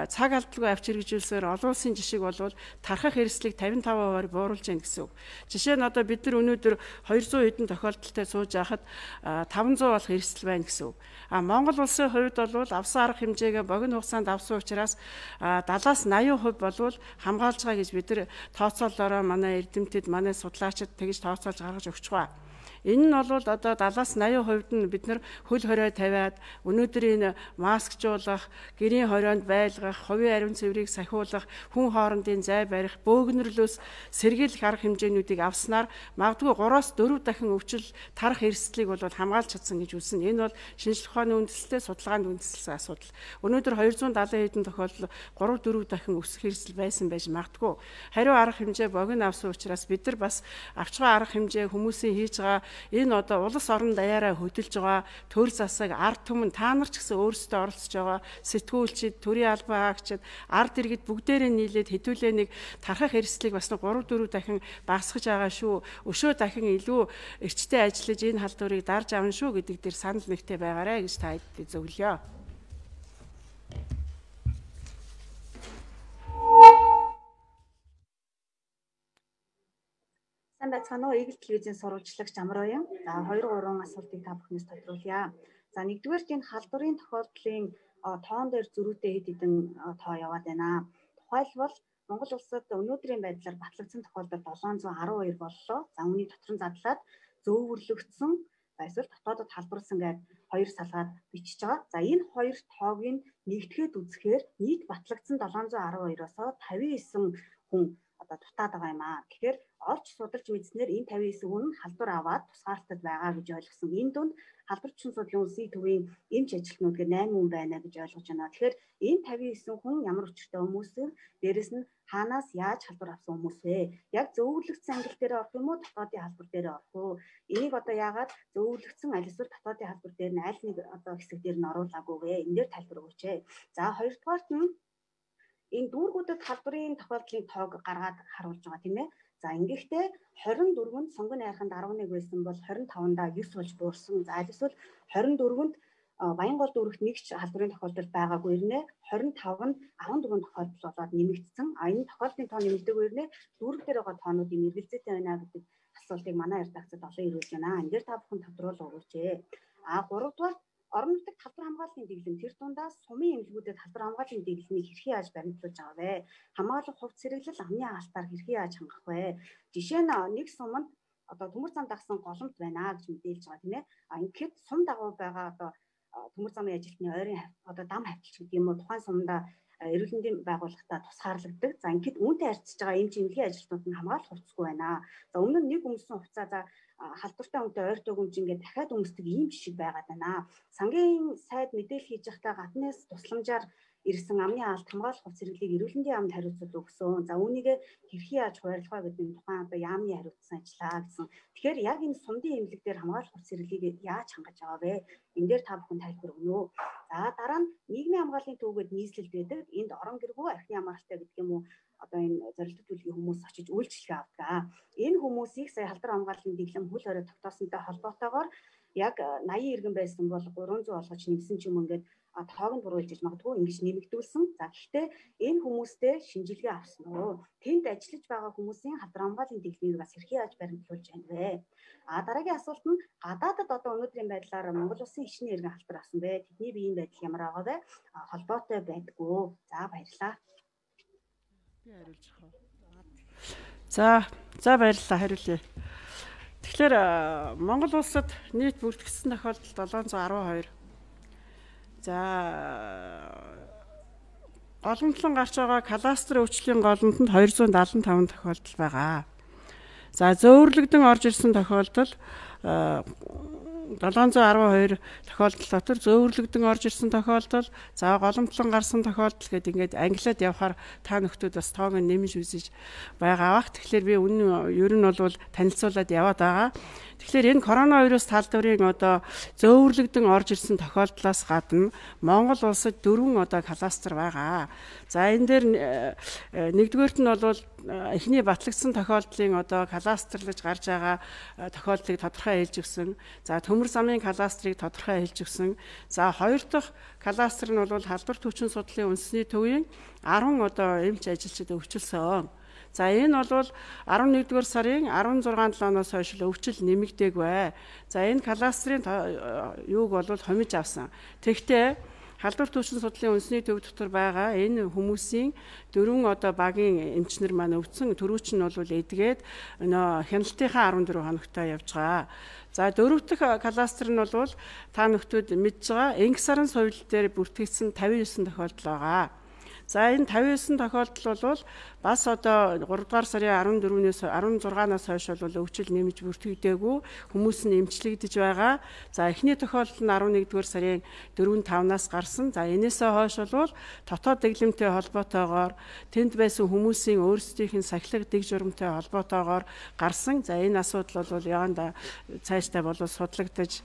цаг алдалгүй авч хэрэгжүүлсээр олон улсын жишг болвол тархах эрсдлийг 55% бууруулж байна гэсэн үг. Жишээ нь одоо бид нар өнөөдөр 200 хэдэн тохиолдолтой сууж байхад 500 болох эрсдэл байна гэсэн үг. Монгол улсын хувьд бол авсан арга хэмжээгээ богино хугацаанд авсан учраас 70-аас 80% болвол хамгаалж байгаа гэж бид нар тооцоололоороо манай эрдэмтэд, манай судлаачид тэгж тооцоолж гаргаж өгч байгаа. Энэ нь бол одоо 70-аас 80% нь бид нар хөл хорио тавиад өнөөдрийн маскжуулах, гэрийн хорионд байлгах, хувийн ариун цэврийг сахиулах, хүн хоорондын зай барих, бөөгнөрлөөс сэргийлэх арга хэмжээнүүдийг авснаар магадгүй 3-аас 4 дахин өвчл тарах эрсдлийг бол хамгаалж чадсан гэж үзсэн. Энэ бол шинжлэх ухааны үндэслэлтэй судалгаанд үндэслэсэн асуудал. Өнөөдөр 270 хэдэн тохиолдол 3-4 дахин өсөх эрсдэл байсан байж магадгүй. Хариу арга хэмжээ богино авсан учраас бид нар бас авч байгаа арга хэмжээ хүмүүсийн хийж байгаа энэ одоо улс орон даяараа хөдөлж байгаа төр засаг, ард түмэн та нар ч гэсэн өөрсдөө оролцож байгаа сэтгүүлчид, төрийн албан хаагчид, ард иргэд бүгдээрээ нийлээд хэдүүлээ нэг тархах эрсдлийг бас 3-4 дахин багасгаж байгаа шүү. Өшөө дахин илүү эрчтэй ажиллаж энэ халдварыг дарж авна шүү гэдэг дээр санал нэгтэй байгаарэ гэж та хэдтэй зөвлөё. Сайн байцгаана уу? Игэл телевизийн сурвалжлагч Амраа юм. За 2-3 асуултыг та бүхнээс тодруулъя. За нэгдүгээрт энэ халдварын тохиолдлын тоон дээр зөрүүтэй хэд хэдэн тоо яваад байна. Тухайлбал Монгол улсад өнөөдрийн байдлаар батлагдсан тохиолдол 712 боллоо. За үүний дотор нь задлаад зөөвөрлөгдсөн эсвэл дотоодод халдварлсан гэдэг 2 салгаад бичиж байгаа. За энэ 2 тоог нь нэгтгэхэд үзэхээр нийт батлагдсан 712-оос 59 хүн одоо дутаад байгаа юм аа. Тэгэхээр олж судалж мэдснээр энэ 59 хүн халдвар аваад тусгаарлалтад байгаа гэж ойлгосон. Энэ дунд халдвар түвшин судлалын үндэсний төвийн эмч ажилтнууд гээд 8 хүн байна гэж ойлгож байна. Тэгэхээр энэ 59 хүн ямар өчртэй хүмүүс вэ? Дээрэс нь хаанаас яаж халдвар авсан хүмүүс вэ? Яг зөвөрлөгдсөн ангил дээр орох юм уу, дотоодын халдвар дээр орох уу? Энийг одоо яагаад зөвөрлөгдсөн аль эсвэл дотоодын халдвар дээр нь аль нэг одоо хэсэг дээр нь оруулаагүй вэ? Энэ дээр тайлбар өгөөч. За хоёрдугаарт нь энэ дүүргүүдэд халдварын тохиолдлын тоог гаргаад харуулж байгаа тийм ээ. За ингэхдээ 24-нд сонгон найрханд 11 байсан бол 25-ндаа 9 болж буурсан. За аль эсвэл 24-нд Баянгол дүүрэгт нэг ч халдварын тохиолдол байгаагүй ирнэ. 25-нд 14 тохиолдол болоод нэмэгдсэн. Энэ тохиолдлын тоо нэмэгдэг ирнэ. Дүүрэг дээр байгаа тоонуудын эргэлзээтэй байна гэдэг асуултыг манай редакцид олон ирүүлж байна. Энэ дээр та бүхэн тодруулах өгөөч. 3-дугаар орон нутагт халдвар хамгааллын дэглэм тэр дундаа сумын эмнэлгүүдэд халдвар хамгааллын дэглэмийг хэрхэн яаж баримтлуулж байгаа вэ? Хамгаалах хувьд сэргэлэл амны хаалтаар хэрхэн яаж хангах вэ? Жишээ нь нэг суманд одоо төмөр зам дагсан голомт байна гэж мэдээлж байгаа тийм ээ. Ингээд сум дагуу байгаа одоо төмөр замын ажилтны ойрын одоо дам хавталч гэдэг юм уу тухайн сумдаа эрүүл мэндийн байгууллагатаа тусгаарлагддаг. За ингээд үүнтэй харьцаж байгаа эмч эмнэлгийн ажилтнууд нь хамгаалах хувцасгүй байна. За өмнө нь нэг өмсөн хувцаа за халдвартай үнэтэй ойртой өмч ингээд дахиад өмсдөг ийм жишг байгаад байна. Сангийн сайд мэдээлэл хийж байхдаа гаднаас тусламжаар ирсэн амны алт хамгаалах хувцас хэрэглийг эрүүл мэндийн яамд хариуцуулж өгсөн. За үүнийг хэрхэн яаж хуваарлах вэ гэдэг нь тухайн одоо яамны хариуцсан ажиллаа гэсэн. Тэгэхээр яг энэ сумдын эмнэлэг дээр хамгаалах хувцас хэрэглийг яаж хангаж байгаа вэ? Энэ дээр та бүхэн тайлбар өгнө үү? За дараа нь нийгмийн хамгааллын төвөд нийслэлд байдаг. Энд орон гэргүй архины хамгаалалтай гэдэг юм уу? Одоо энэ зорилт төлөвлөгийн хүмүүс очиж үйлчлэгээ авдаг. Энэ хүмүүсийг сая халдвар хамгааллын дэглэм хөл хорой тогтоосонтой холбоотойгоор яг 80 иргэн байсан бол 300 болгож нэмсэн ч юм ингээд тоог нь буруулж иж магадгүй ингэж нэмэгдүүлсэн. За гэхдээ энэ хүмүүстэй шинжилгээ авсан уу? Тэнд ажиллаж байгаа хүмүүсийн халдвар хамгааллын дэглэмийг бас хэрхэн яаж баримтлуулж байна вэ? Дараагийн асуулт нь гадаадад одоо өнөөдрийн байдлаар Монгол улсын ичний иргэн халдвар авсан бэ? Тэдний биеийн байдал ямар байгаа вэ? Холбоотой байдгүй. За баярлалаа. За баярлалаа хариулъя. Тэгэхээр Монгол улсад нийт бүртгэгдсэн тохиолдол 712. За голомтлон гарч байгаа кадастрын өвчлийн голомтонд 275 тохиолдол байгаа. За зөөвөрлөгдөн орж ирсэн тохиолдол 712 тохиолдол дотор зөөвөрлөгдөн орж ирсэн тохиолдол, за голомтлон гарсан тохиолдол гэдэг ингээд англиад явахаар та нөхдүүд бас тоог нь нэмж үзэж байгаа бах. Тэгэхээр би ер нь бол танилцуулаад яваад байгаа. Тэгэхээр энэ коронавирус талдврын одоо зөөвөрлөгдөн орж ирсэн тохиолдлоос гадна Монгол улсад 4 одоо кластер байгаа. За энэ дээр нэгдүгээрт нь бол эхний батлагдсан тохиолдлын одоо кластерлаж гарч байгаа тохиолдлыг тодорхой хэлж өгсөн. За төмөр замын кластерыг тодорхой хэлж өгсөн. За хоёр дахь кластер нь бол халдвар төвчин судлалын үндэсний төвийн 10 одоо эмч ажилчид өвчлсөн. За энэ бол 11-р сарын 16-7-оос хойш өвчл нэмэгдээгүй. За энэ кластерын юуг бол хомиж авсан. Тэгэхдээ халдвар төвчин судлалын үндэсний төв дотор байгаа энэ хүмүүсийн 4 одоо багийн эмчнэр маань өвдсөн. Төрүүч нь бол эдгээд хяналтынхаа 14 хоногтой явж байгаа. За дөрөв дэх кластер нь бол та нөхдүүд мэдж байгаа энх сарын сувил дээр бүртгэгдсэн 59 тохиолдол байгаа. За энэ 59 тохиолдол бол бас одоо 3 дугаар сарын 16-наас хойш бол өвчл нэмж бүртгэгдээгүй хүмүүс нь эмчлэгдэж байгаа. За эхний тохиолдол нь 11-р сарын 4-5-наас гарсан. За энээсээ хойш бол дотоод дэглэмтэй холбоотойгоор тэнд байсан хүмүүсийн өөрсдийнх нь сахилга дэг журамтай холбоотойгоор гарсан. За энэ асуудал бол яванда цаашдаа бол судлагдаж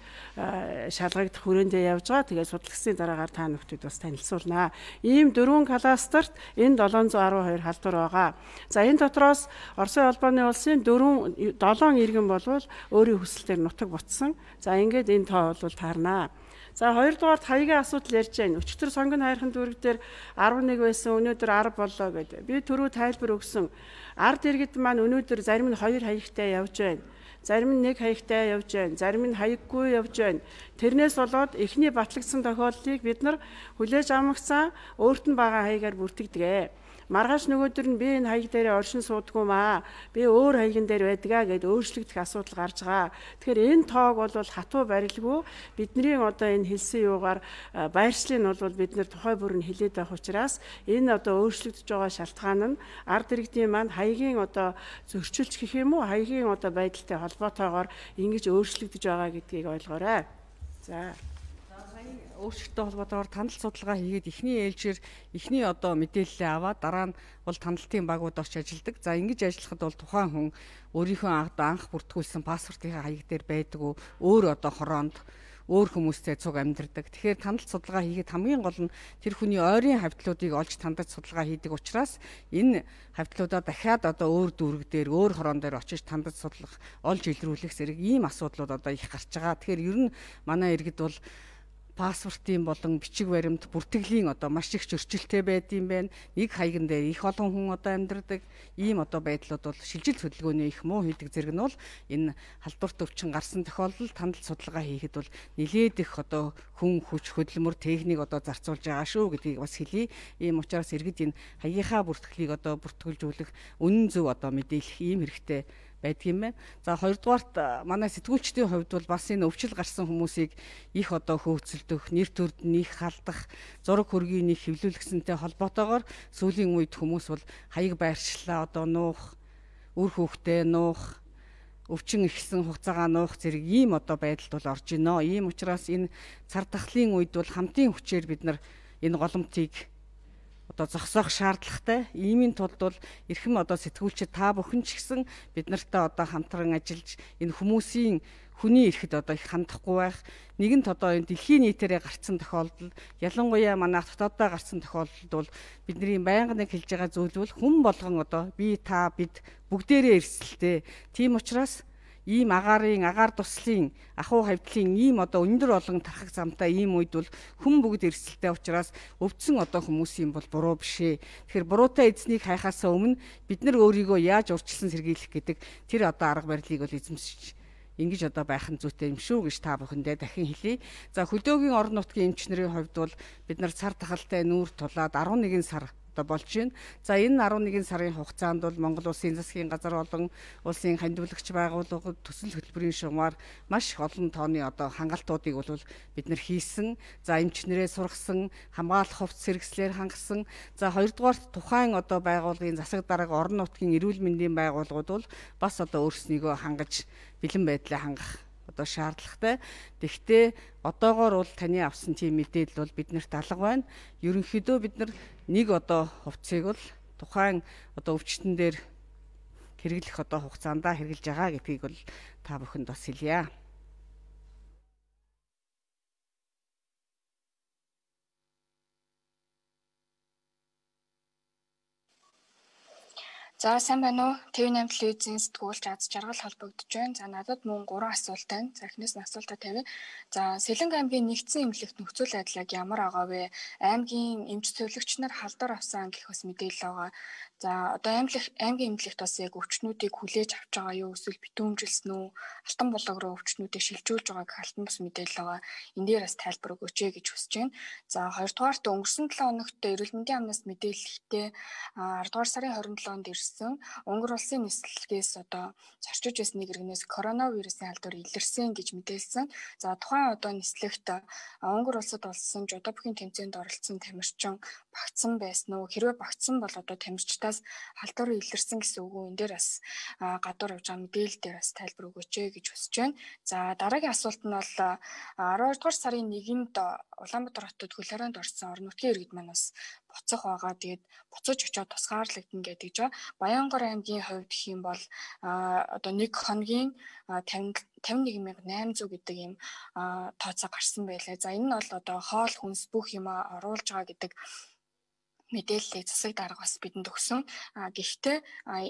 шалгагдах хүрээндээ явж байгаа. Тэгээд судалгасан дараагаар та нөхдөд бас танилцуулнаа. Ийм 4 кластерт энэ 712 халдвар байгаа. За энэ дотроос Оросын холбооны улсын 7 иргэн болвол өөрийн хүсэлтээр нутаг ботсон. За ингээд энэ тоо бол таарнаа. За хоёрдугаарт хаягийн асуудал ярьж байна. Өчигдөр сонгон хайрхан дүүрэг дээр 11 байсан, өнөөдөр 10 боллоо гэдэг. Би түрүү тайлбар өгсөн. Ард иргэд маань өнөөдөр зарим нь 2 хаягтай явж байна. Зарим нь 1 хаягтай явж байна. Зарим нь хаяггүй явж байна. Тэрнээс болоод эхний батлагдсан тохиолдлыг бид нар хүлээж авмагцаа өөрт нь байгаа хаягаар бүртгэдэг. Маргааш нөгөөдөр нь би энэ хаяг дээр оршин суудгүй маа. Би өөр хаягн дээр байдгаа гэд өөрчлөгдөх асуудал гарч байгаа. Тэгэхээр энэ тоог бол хатуу барилгүй бидний одоо энэ хэлсэн юугаар байршлыг нь бол бид нэр тухай бүр нь хилээд байх учраас энэ одоо өөрчлөгдөж байгаа шалтгаан нь ард иргэдийн маань хаягийн одоо зөрчилж гэх юм уу хаягийн одоо байдалтай холбоотойгоор ингэж өөрчлөгдөж байгаа гэдгийг ойлгоорой. За өөрчлөлттэй холбоотойгоор танил судалгаа хийгээд эхний ээлжээр эхний одоо мэдээлэлээ аваад дараа нь бол танилтын багууд орч ажилладаг. За ингэж ажиллахад бол тухайн хүн өөрийнхөө анх бүртгүүлсэн паспортынхаа хаяг дээр байдгүй өөр одоо хороонд өөр хүмүүстэй цуг амьдардаг. Тэгэхээр танил судалгаа хийгээд хамгийн гол нь тэр хүний ойрын хавьтлуудыг олж тандаж судалгаа хийдэг учраас энэ хавьтлуудаа дахиад одоо өөр дүүрэг дээр өөр хороон дээр очиж тандаж судлах, олж илрүүлэх зэрэг ийм асуудлууд одоо их гарч байгаа. Тэгэхээр ер нь манай иргэд бол паспортын болон бичиг баримт бүртгэлийн одоо маш их зөрчилтэй байдсан байна. Нэг хаягн дээр их олон хүн одоо амьдардаг. Ийм одоо байдлууд бол шилжил хөдөлгөөний их муу хийдэг зэрэг нь бол энэ халдварт өвчин гарсан тохиолдолд танил судалгаа хийхэд бол нэлээд их одоо хүн хүч хөдөлмөр техник одоо зарцуулж байгаа шүү гэдгийг бас хэлье. Ийм учраас иргэд энэ хаягийнхаа бүртгэлийг одоо бүртгүүлжүүлэх үнэн зөв одоо мэдээлэх ийм хэрэгтэй байдаг юм байна. За хоёрдугаарт манай сэтгүүлчдийн хувьд бол бас энэ өвчл гарсан хүмүүсийг их одоо хөөцөлдөх, нэр төрд нь их халдах, зураг хөргийг их хэвлүүлгэсэнтэй холбоотойгоор сүүлийн үед хүмүүс бол хаяг байршлаа одоо нуух, үр хүүхдээ нуух, өвчин ихсэн хугацаагаа нуух зэрэг ийм одоо байдалд бол орж ийнө. Ийм учраас энэ цар тахлын үед бол хамтын хүчээр бид нар энэ голомтыг одоо зогсоох шаардлагатай. Иймийн тулд бол эрхэм одоо сэтгүүлчид та бүхэн ч гэсэн бид нартай одоо хамтран ажиллаж энэ хүмүүсийн хүний эрэхэд одоо их хандахгүй байх. Нэгэнт одоо энэ дэлхийн нийтээрээ гарцсан тохиолдол, ялангуяа манай дотооддоо гарцсан тохиолдолд бол бидний байнга нэг хэлж байгаа зүйл бол хүн болгон одоо би та бид бүгдээрээ эрсдэлтэй. Тийм учраас ийм агаар туслын ахуй хавьтлын ийм одоо өндөр олон тархах замтай ийм үед бол хүн бүгд эрсдэлтэй учраас өвдсөн одоо хүмүүсийн бол буруу бишээ. Тэгэхээр буруутай эзнийг хайхаасаа өмнө бид нар өөрийгөө яаж урьдчилан сэргийлэх гэдэг тэр одоо арга барилыг бол эзэмшиж ингэж одоо байх нь зүйтэй юм шүү гэж та бүхэндээ дахин хэлье. За хөдөөгийн орон нутгийн эмчнэрийн хувьд бол бид нар цар тахалтай нүүр тулаад 11 сар одоо болж байна. За энэ 11 сарын хугацаанд бол Монгол Улсын засгийн газар болон улсын хандивлагч байгууллагууд төсөл хөтөлбөрийн шугамар маш их олон тооны одоо хангалтуудыг бол бид нар хийсэн. За эмчнэрээ сургасан, хамгаалах хувцас хэрэгслэр хангасан. За хоёрдугаарт тухайн одоо байгууллагын засаг дарга орон нутгийн эрүүл мэндийн байгууллагууд бол бас одоо өөрснийгөө хангаж бэлэн байдлаа хангах одоо шаардлагатай. Тэгвэл одоогоор бол таны авсан тийм мэдээлэл бол биднэрт алга байна. Ерөнхийдөө бид нар нэг одоо хувцсыг бол тухайн одоо өвчтөн дээр хэрэглэх одоо хугацаанд хэрэгжилж байгаа гэдгийг бол та бүхэнд бас хэлье. За сайн байна уу? ТV8 телевизийн сэтгүүлч аз жаргал холбогдож байна. За надад мөн 3 асуулт байна. За эхнээс нь асуултаа тавья. За Сэлэнг аймгийн нэгдсэн эмнэлэгт нөхцөл байдал яг ямар байгаа вэ? Аймгийн эмч зөвлөгч нар халдвар авсан гэх бас мэдээлэл байгаа. За одоо аймгийн эмнэлэгт бас яг өвчтнүүдийг хүлээж авч байгаа юу? Эсвэл битүүмжилсэн үү? Алтан булаг руу өвчтнүүдийг шилжүүлж байгааг алтан бас мэдээлэл байгаа. Энд дээр бас тайлбар өгөөч гэж хүсэж байна. За хоёрдугаарт өнгөрсөн 7 хоногт эрүүл мэндийн амнаас мэдээлэлтэй 10 дугаар сарын 27-нд Унгар улсын нислэгээс одоо зорчиж байсан нэг иргэнээс коронавирусын халдвар илэрсэн гэж мэдээлсэн. За тухайн одоо нислэгт Унгар улсад болсон жодо бүхийн тэмцээнд оролцсон тамирчин багтсан байсан уу? Хэрвээ багтсан бол одоо тамирчдаас халдвар илэрсэн гэсэн үг үү? Энд дээр бас гадуур явж байгаа мэдээлэл дээр бас тайлбар өгөөч гэж хүсэж байна. За дараагийн асуулт нь бол 12 дугаар сарын 1-нд Улаанбаатар хотод хөл хорионд орсон орон нутгийн иргэд маань бас буцах байгаа. Тэгээд буцаж очиод тусгаарлагдана гэдэг жаа. Баянгор аймгийн хувьд гэх юм бол одоо нэг хоногийн 51800 гэдэг ийм тооцоо гарсан байлаа. За энэ нь бол одоо хоол хүнс бүх юм оруулж байгаа гэдэг мэдээллийг засаг дарга бас бидэнд өгсөн. Гэхдээ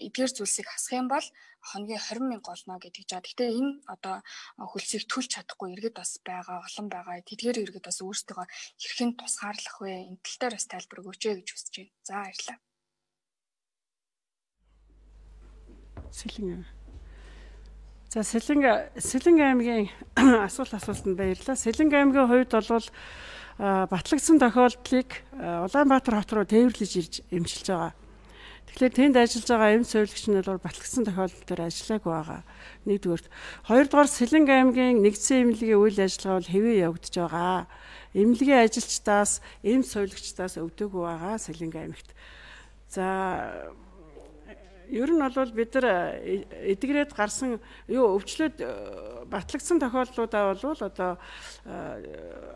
эдгээр зүйлсийг хасах юм бол хоногийн 20,000 олно гэдэг жаа. Гэхдээ энэ одоо хөлсийг төлж чадахгүй иргэд бас байгаа, олон байгаа. Тэдгээр иргэд бас өөрсдөө хэрхэн тусгаарлах вэ? Энэ тал дээр бас тайлбар өгөөч гэж хүсэж байна. За баярлалаа. За Сэлэнг аймгийн асуултанд баярлалаа. Сэлэнг аймгийн хувьд бол батлагдсан тохиолдлыг Улаанбаатар хот руу тээвэрлэж ирж эмчилж байгаа. Тэгэхээр тэнд ажиллаж байгаа эмч зөвлөгч нь бол батлагдсан тохиолдол дээр ажиллаагүй байгаа. Нэгдүгээр. Хоёрдугаар Сэлэнг аймгийн нэгдсэн эмнэлгийн үйл ажиллагаа бол хэвээ явагдаж байгаа. Эмнэлгийн ажилчдаас эмч зөвлөгчдаас өвдөөгүй байгаа Сэлэнг аймагт. За ер нь бол бид нар эдгрээд гарсан өвчлөд батлагдсан тохиолдлуудаа бол одоо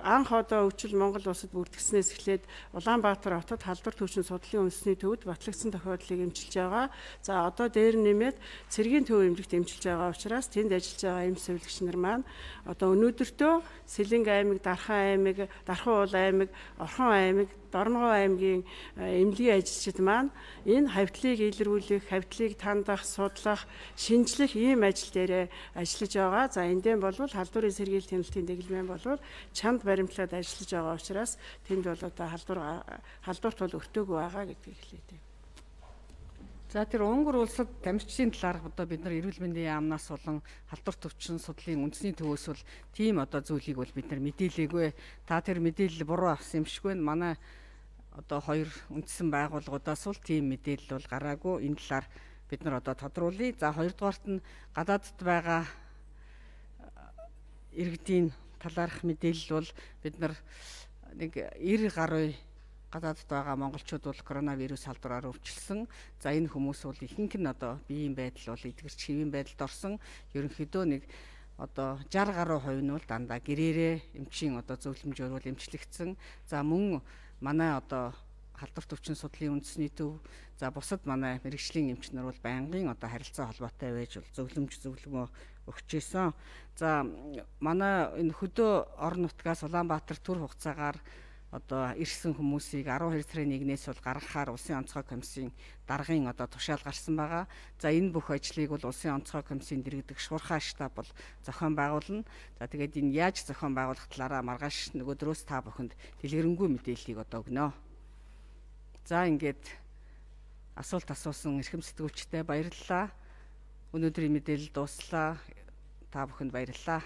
анх одоо өвчл Монгол улсад бүрдгэснээс эхлээд Улаанбаатар хотод халдвар төвчний судлалын үндэсний төвд батлагдсан тохиолдлыг эмчилж байгаа. За одоо дээр нэмээд цэргийн төв эмнэлэгт эмчилж байгаа учраас тэнд ажиллаж байгаа эмч зөвлөгч нар маань одоо өнөөдөртөө Сэлэнг аймаг, Дархан аймаг, Дархан уул аймаг, Орхон аймаг, Дорногов аймгийн эмнэлгийн ажилчид маань энэ хавьтлыг илрүүлэх, хавьтлыг тандах, судлах, шинжлэх ийм ажил дээр ажиллаж байгаа. За эндээ болвол халдварын сэргийлт хяналтын дэглэмэн болвол чанд баримтлаад ажиллаж байгаа учраас тэнд бол одоо халдварт бол өртөөгүй байгаа гэдгийг хэлээ. За тэр Унгар улсад тамирчдын талаарх одоо бид нар эрүүл мэндийн яамнаас болон халдвар төвчин судлалын үндэсний төвөөс бол тийм одоо зүйлийг бол бид нар мэдээлээгүй. Та тэр мэдээлэл буруу авсан юм шиг байна. Манай одоо хоёр үндэссэн байгууллагуудаас бол тийм мэдээлэл бол гараагүй. Энэ талаар бид нар одоо тодруулъя. За хоёрдугаарт нь гадаадд байгаа иргэдийн талаарх мэдээлэл бол бид нар нэг 90 гаруй гадаадд байгаа монголчууд бол коронавирус халдвараар өвчлсөн. За энэ хүмүүс бол ихэнх нь одоо биеийн байдал бол эдгэрч хэвийн байдалд орсон. Ерөнхийдөө нэг одоо 60 гаруй хувь нь бол дандаа гэрээрээ эмчийн одоо зөвлөмжөөр бол эмчлэгдсэн. За мөн манай одоо халдвар төвчин судлалын үндэсний төв, за бусад манай мэрэгжлийн эмч нар бол байнгын одоо харилцаа холбоотой байж бол зөвлөмөө өгч ийсэн. За манай энэ хөдөө орон нутгаас Улаанбаатар төр хугацаагаар одоо ирсэн хүмүүсийг 12 сарын 1-ээс бол гаргахаар улсын онцгой комиссийн даргын одоо тушаал гарсан байгаа. За энэ бүх ажлыг бол улсын онцгой комиссийн дэргэдэг шуурхай штаб бол зохион байгуулна. За тэгээд энэ яаж зохион байгуулах талаараа маргааш нөгөөдрөөс та бүхэнд дэлгэрэнгүй мэдээллийг одоо өгнө. За ингээд асуулт асуусан эрхэм сэтгүүлчтэй баярлалаа. Өнөөдрийн мэдээлэл дууслаа. Та бүхэнд баярлалаа.